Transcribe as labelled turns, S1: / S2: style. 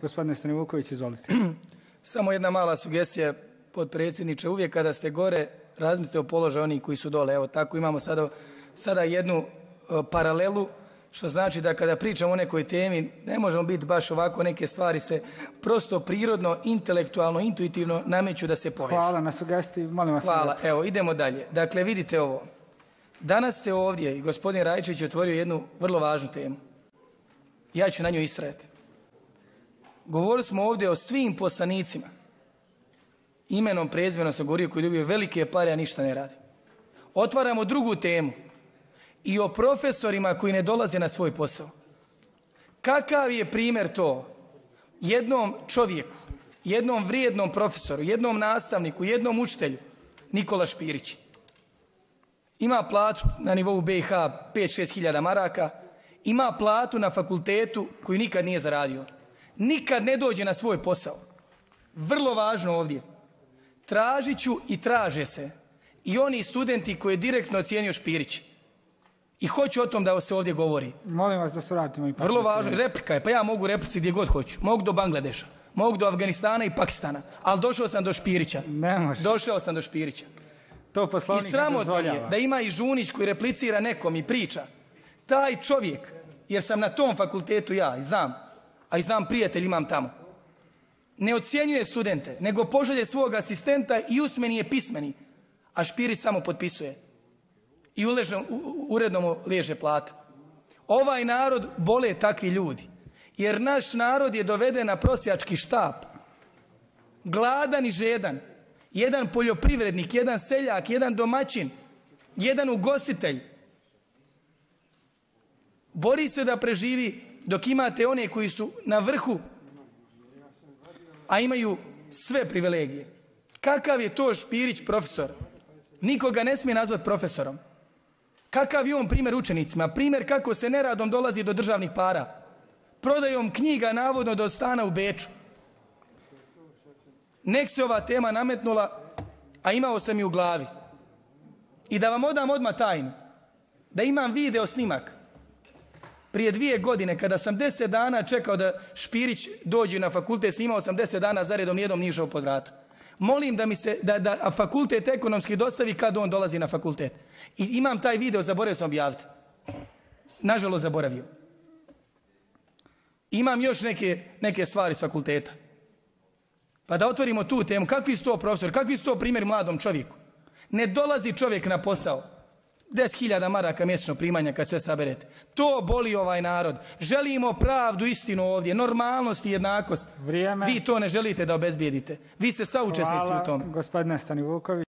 S1: Gospodine Stanivuković, izvolite.
S2: Samo jedna mala sugestija, potpredsjedniče. Uvijek kada ste gore, razmislite o položaju onih koji su dole. Evo tako imamo sada jednu paralelu, što znači da kada pričamo o nekoj temi, ne možemo biti baš ovako, neke stvari se prosto prirodno, intelektualno, intuitivno nameću da se povežu.
S1: Hvala na sugestiji, molim vas.
S2: Hvala, evo idemo dalje. Dakle, vidite ovo. Danas ste ovdje i gospodin Rajčević je otvorio jednu vrlo važnu temu. Ja ću na njoj istrajati. Govorili smo ovdje o svim poslanicima. Imenom, prezimenom sam govorio koji dobiju velike pare, a ništa ne rade. Otvaramo drugu temu. I o profesorima koji ne dolaze na svoj posao. Kakav je primjer to? Jednom čovjeku, jednom vrijednom profesoru, jednom nastavniku, jednom učitelju, Nikola Špirić. Ima platu na nivou BiH 5-6 hiljada maraka, ima platu na fakultetu koju nikad nije zaradio. Nikad ne dođe na svoj posao. Vrlo važno ovdje. Tražit ću i traže se i oni studenti koji je direktno ocijenio Špirić. I hoću o tom da se ovdje govori.
S1: Molim vas da se vratimo.
S2: Vrlo važno. Replika je, pa ja mogu replici gdje god hoću. Mogu do Bangladeša, mogu do Afganistana i Pakistana, ali došao sam do Špirića.
S1: Ne može.
S2: Došao sam do Špirića.
S1: To poslovnik ne dozvoljava. I sramotno je da ima i Žunić koji replicira nekom i priča. Taj čovjek, jer sam na tom fakultetu ja i znam, a i znam prijatelj imam tamo, ne ocjenjuje studente, nego pošalje svog asistenta i usmeni je pismeni, a Špirić samo potpisuje. I uredno mu leže plata. Ovaj narod bole takvi ljudi. Jer naš narod je doveden na prosjački štap. Gladan i žedan. Jedan poljoprivrednik, jedan seljak, jedan domaćin, jedan ugostitelj. Bori se da preživi dok imate one koji su na vrhu, a imaju sve privilegije. Kakav je to Špirić profesor? Nikoga ne smije nazvati profesorom. Kakav je on primjer učenicima? Primjer kako se neradom dolazi do državnih para. Prodajom knjiga navodno do stana u Beču. Nek se ova tema nametnula, a imao sam i u glavi. I da vam odam odmah tajnu. Da imam video snimak. Prije 2 godine, kada sam 10 dana čekao da Špirić dođe na fakultet, snimao sam 10 dana zaredom, nijednom nije išao pod vrata. Molim da mi se, da fakultet ekonomski dostavi kad on dolazi na fakultet. I imam taj video, zaboravio sam objaviti. Nažalost, zaboravio. Imam još neke stvari s fakulteta. Pa da otvorimo tu temu. Kakvi su to profesori? Kakvi su to primjeri mladom čovjeku? Ne dolazi čovjek na posao. 10.000 maraka mjesečno primanja kad sve saberete. To boli ovaj narod. Želimo pravdu, istinu ovdje, normalnost i jednakost. Vrijeme.
S2: Vi to ne želite da obezbijedite. Vi ste saučesnici u tom.
S1: Hvala, gospodine Stanivuković.